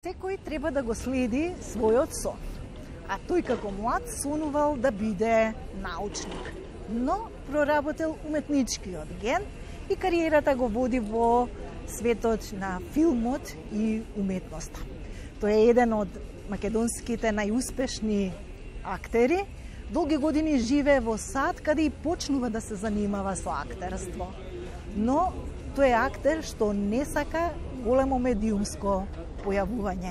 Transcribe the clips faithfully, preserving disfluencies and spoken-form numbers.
Секој треба да го следи својот сон, а тој како млад сонувал да биде научник, но проработил уметничкиот ген и кариерата го води во светот на филмот и уметноста. Тој е еден од македонските најуспешни актери, долги години живее во Сад, каде и почнува да се занимава со актерство. Но тој е актер што не сака големо медиумско појавување.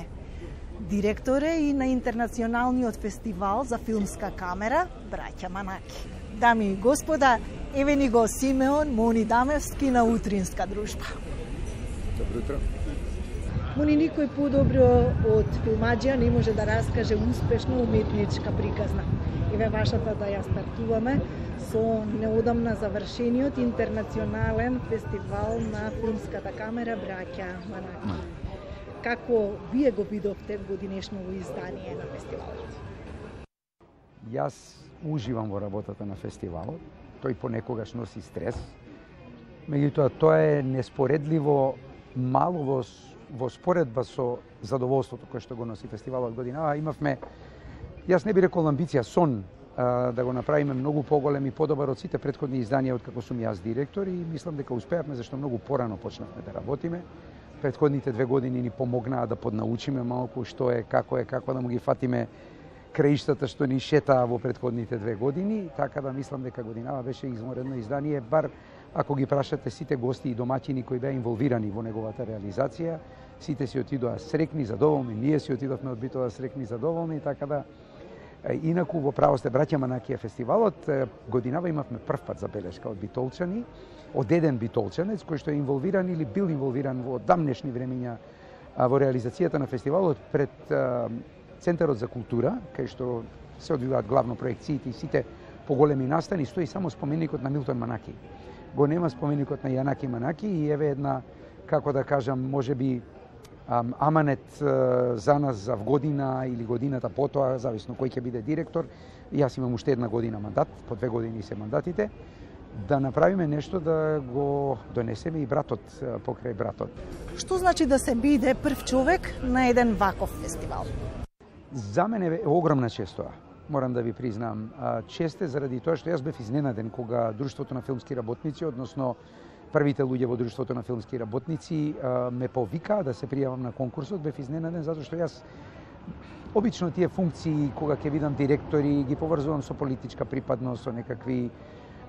Директор е и на Интернационалниот фестивал за филмска камера Браќа Манаки. Дами и господа, еве ни го Симеон Мони Дамевски на Утринска дружба. Добро утро. Мони, никој подобро од филмаџија не може да раскаже успешна уметничка приказна. Еве вашата да ја стартуваме со неодамна завршениот Интернационален фестивал на филмската камера Браќа Манаки. Како вие го видовте годинешното издание на фестивалот? Јас уживам во работата на фестивалот. Тој понекогаш носи стрес. Меѓутоа, тоа е неспоредливо мало во, во споредба со задоволството кое што го носи фестивалот годинава. Имавме, јас не би рекол амбиција, сон а, да го направиме многу поголем и подобар од сите претходни изданија од како сум јас директор, и мислам дека успеавме зашто многу порано почнавме да работиме. Претходните две години ни помогнаа да поднаучиме малку што е, како е, како да му ги фатиме краиштата што ни шетаа во претходните две години, така да мислам дека годинава беше изморедно издание, бар ако ги прашате сите гости и домаќини кои беа инволвирани во неговата реализација, сите си отидоа срекни, задоволни, ние си отидовме од Битола срекни, задоволни, така да инаку во право сте Браќа Манаки фестивалот годинава имавме прв пат забелешка од битолчани, од еден битолчанец кој што е инволвиран или бил инволвиран во дамнешни времиња во реализацијата на фестивалот пред Центарот за култура, кај што се одвиваат главно проекциите и сите поголеми настани, стои само споменикот на Милтон Манаки. Го нема споменикот на Јанаки Манаки и еве една, како да кажам, можеби аманет за нас за година или годината потоа, зависно кој ќе биде директор. Јас имам уште една година мандат, по две години се мандатите, да направиме нешто да го донесеме и братот покрај братот. Што значи да се биде прв човек на еден ваков фестивал? За мене е огромна чест тоа. Морам да ви признам. Чест е заради тоа што јас бев изненаден кога Друштвото на филмски работници, односно првите луѓе во Друштвото на филмски работници ме повикаа да се пријавам на конкурсот. Бев изненаден затоа што јас обично тие функции кога ќе видам директори ги поврзувам со политичка припадност, со некакви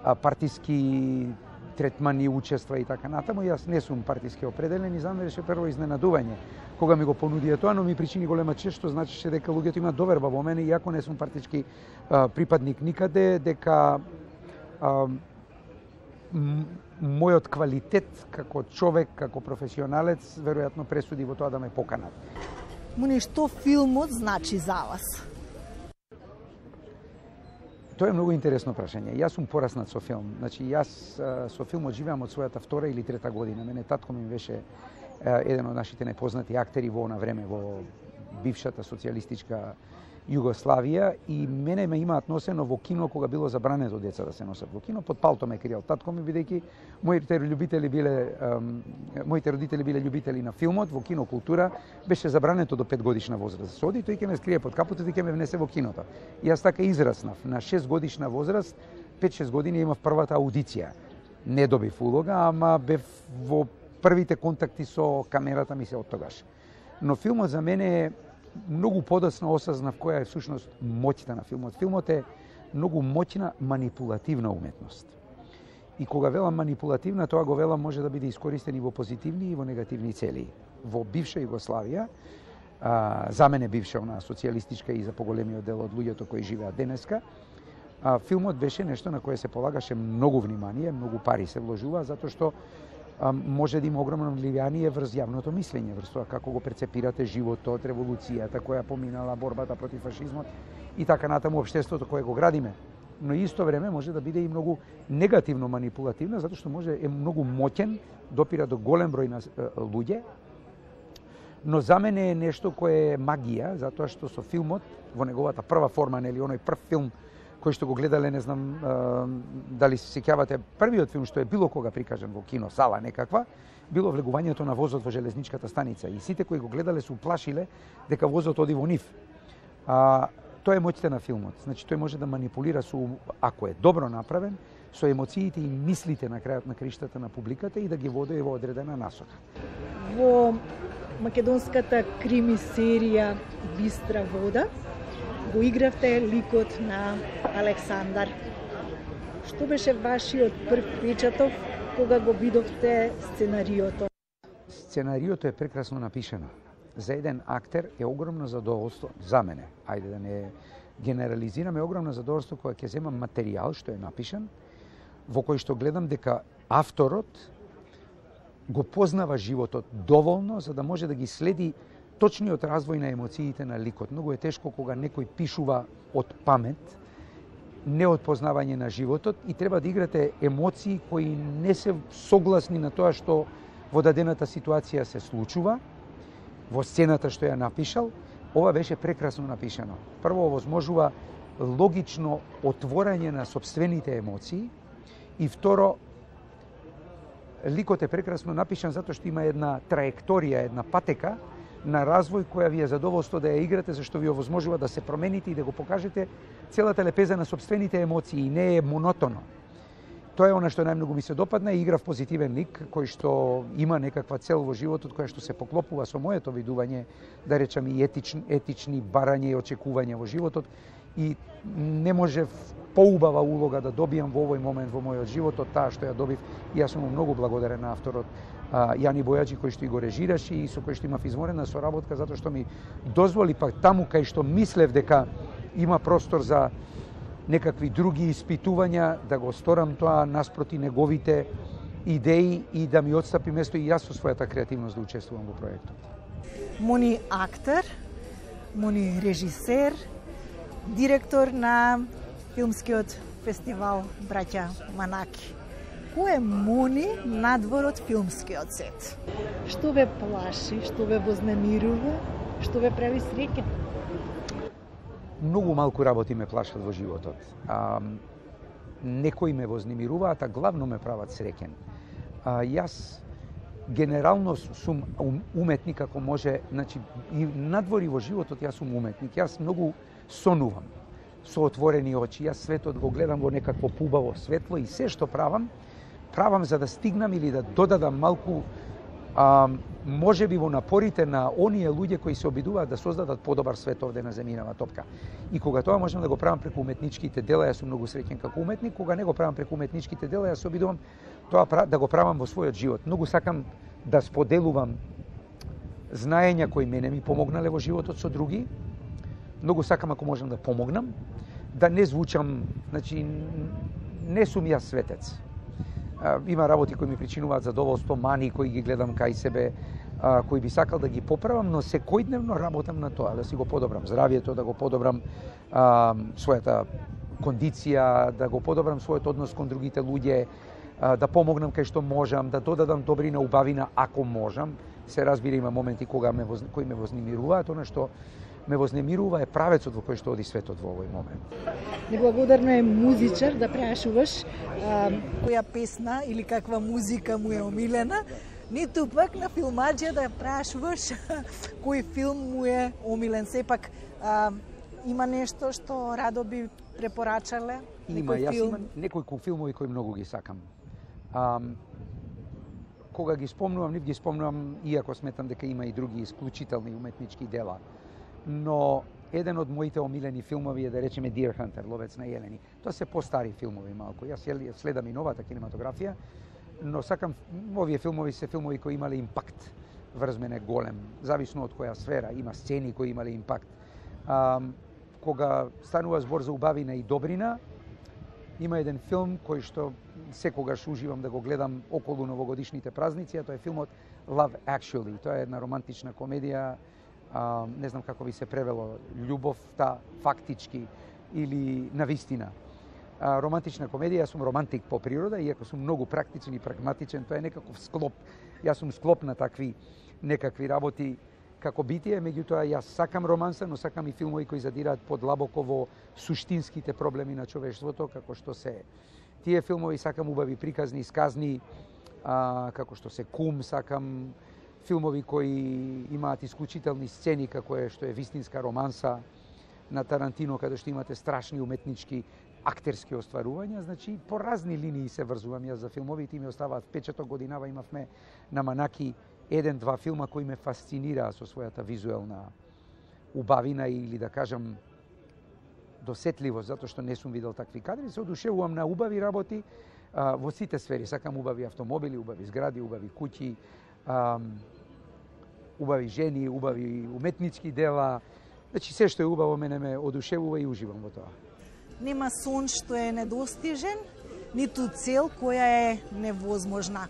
партиски третмани, учества и така натаму. Јас не сум партиски определен и за мене беше прво изненадување кога ми го понудија тоа, но ми причини голема чест, што значеше дека луѓето имаат доверба во мене, иако не сум партички а, припадник никаде, дека а, мојот квалитет како човек, како професионалец, веројатно пресуди во тоа да ме поканат. Мони, што филмот значи за вас? Тоа е многу интересно прашање. Јас сум пораснат со филм. Значи, јас со филмот живеам од својата втора или трета година. Мене татко ми беше еден од нашите најпознати актери во она време во бившата социјалистичка Југославија, и мене ме имаат носено во кино кога било забрането деца да се носат во кино. Под палто ме криел татко ми, бидејќи моите љубители биле моите родители биле љубители на филмот, во кино култура беше забрането до пет годишна возраст. Се оди, тој ќе ме скрие под капотот и ќе ме внесе во киното. И јас така израснав. На шест годишна возраст, пет-шест години имав првата аудиција. Не добив улога, ама бев во првите контакти со камерата ми се од тогаш. Но филмот за мене е многу подоцна осознав која е всушност моќта на филмот. Филмот е многу моќна манипулативна уметност. И кога велам манипулативна, тоа го велам може да биде искористен и во позитивни и во негативни цели. Во бивша Југославија, а, за мене бивша она социјалистичка и за поголемиот дел од луѓето кои живеат денеска, а, филмот беше нешто на кое се полагаше многу внимание, многу пари се вложува, затоа што може да има огромно влијание врз јавното мислење, врз тоа како го перцепирате животот, револуцијата која поминала, борбата против фашизмот и така натаму општеството кое го градиме. Но исто време може да биде и многу негативно манипулативна, затоа што може е многу моќен, допира до голем број на луѓе. Но за мене е нешто кое е магија, затоа што со филмот, во неговата прва форма, нели оној прв филм кои што го гледале, не знам дали се сеќавате, првиот филм што е било кога прикажан во кино сала некаква, било влегувањето на возот во железничката станица и сите кои го гледале се уплашиле дека возот оди во нив. А, тоа е моќта на филмот. Значи тој може да манипулира со, ако е добро направен, со емоциите и мислите на крајот на криштата на публиката и да ги води во одредена насока. Во македонската крими серија Бистра вода го игравте ликот на Александар. Што беше вашиот прв впечаток кога го видовте сценариото? Сценариото е прекрасно напишано. За еден актер е огромно задоволство, за мене, ајде да не генерализираме, огромно задоволство кога ќе земам материјал што е напишан, во кој што гледам дека авторот го познава животот доволно за да може да ги следи точниот развој на емоциите на ликот. Многу е тешко кога некој пишува од памет, не од познавање на животот и треба да играте емоции кои не се согласни на тоа што во дадената ситуација се случува, во сцената што ја напишал. Ова беше прекрасно напишано. Прво, овозможува логично отворање на собствените емоции и второ, ликот е прекрасно напишан затоа што има една траекторија, една патека на развој која ви е задоволство да ја играте, зашто ви овозможува да се промените и да го покажете целата лепеза на собствените емоции и не е монотоно. Тоа е она што најмногу ми се допадна и играв позитивен лик кој што има некаква цел во животот која што се поклопува со моето видување, да речам и етични, етични барања и очекувања во животот и не можев поубава улога да добијам во овој момент во мојот живот од таа што ја добив и јас сум многу благодарен на авторот Јани Бојаджи кој што и го режираше и со кој што имав изморена соработка затоа што ми дозволи пак таму кај што мислев дека има простор за некакви други испитувања да го сторам тоа наспроти неговите идеи и да ми отстапи место и јас со својата креативност да учествувам во проектот. Муни актер, муни режисер, директор на филмскиот фестивал Браќа Манаки. Кој е Муни надвор од филмскиот сет? Што ве плаши, што ве вознемирува, што ве прави среќен? Многу малку работи ме плашат во животот. А, некои ме вознемируваат, а главно ме прават среќен. А, јас генерално сум уметник ако може, значи и надвори во животот јас сум уметник. Јас многу сонувам со отворени очи. Јас светот го гледам во некакво пубаво светло и се што правам, правам за да стигнам или да додадам малку а, може би во напорите на оние луѓе кои се обидуваат да создадат подобар свет овде на земјинава топка. И кога тоа можам да го правам преку уметничките дела, јас сум многу среќен како уметник, кога не го правам преку уметничките дела, јас се обидувам тоа да го правам во својот живот. Многу сакам да споделувам знаења кои мене ми помогнале во животот со други. Многу сакам ако можам да помогнам, да не звучам, значи не сум јас светец. Има работи кои ми причинуваат задоволство, мани кои ги гледам кај себе, кои би сакал да ги поправам, но секојдневно работам на тоа, да си го подобрам здравието, да го подобрам а, својата кондиција, да го подобрам својот однос кон другите луѓе, а, да помогнам кај што можам, да додадам добрина, убавина ако можам. Се разбира, има моменти кога ме воз... кои ме вознемируваат, она што ме вознемирува е правецот во кој што оди светот во овој момент. Неблагодарно е музичар да прашуваш а, која песна или каква музика му е омилена, ниту пак на филмаџија да прашуваш кој филм му е омилен. Сепак а, има нешто што радо би препорачале? Има, јас филм? Имам некои филмови кои многу ги сакам. А, кога ги спомнувам, нив ги спомнувам, иако сметам дека има и други исклучителни уметнички дела. Но еден од моите омилени филмови е, да речеме, Deer Hunter, Ловец на јелени. Тоа се постари филмови малку. Јас следам и новата кинематографија, но сакам, овие филмови се филмови кои имале импакт врз мене голем, зависно од која сфера, има сцени кои имале импакт. А, кога станува збор за убавина и добрина, има еден филм кој што секогаш уживам да го гледам околу новогодишните празници, а тоа е филмот Love Actually. Тоа е една романтична комедија, а, не знам како би се превело, љубовта фактички или навистина. А, романтична комедија, јас сум романтик по природа, иако сум многу практичен и прагматичен, тоа е некаков склоп. Јас сум склоп на такви некакви работи како битие, меѓутоа јас сакам романса, но сакам и филмови кои задираат подлабоко во суштинските проблеми на човештвото, како што се тие филмови, сакам убави приказни, исказни, а, како што се Кум, сакам филмови кои имаат исклучителни сцени, како е што е вистинска романса на Тарантино, каде што имате страшни уметнички актерски остварувања, значи по разни линии се врзувам јас за филмовите и ми оставаат впечаток. Годинава имавме на Манаки еден-два филма кои ме фасцинираа со својата визуелна убавина или да кажам досетливост, затоа што не сум видел такви кадри. Се одушевувам на убави работи а, во сите сфери. Сакам убави автомобили, убави згради, убави куќи, а, убави жени, убави уметнички дела. Значи се што е убаво мене ме одушевува и уживам во тоа. Нема сон што е недостижен, ниту цел која е невозможна.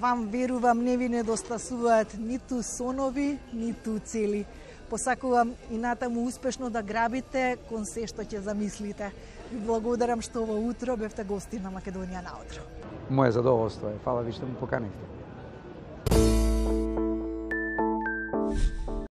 Вам верувам не ви недостасуваат ниту сонови, ниту цели. Посакувам и натаму успешно да грабите кон се што ќе замислите. Ви благодарам што ова утро бевте гости на Македонија на утро. Моје задоволство е. Фала ви што ме поканивте.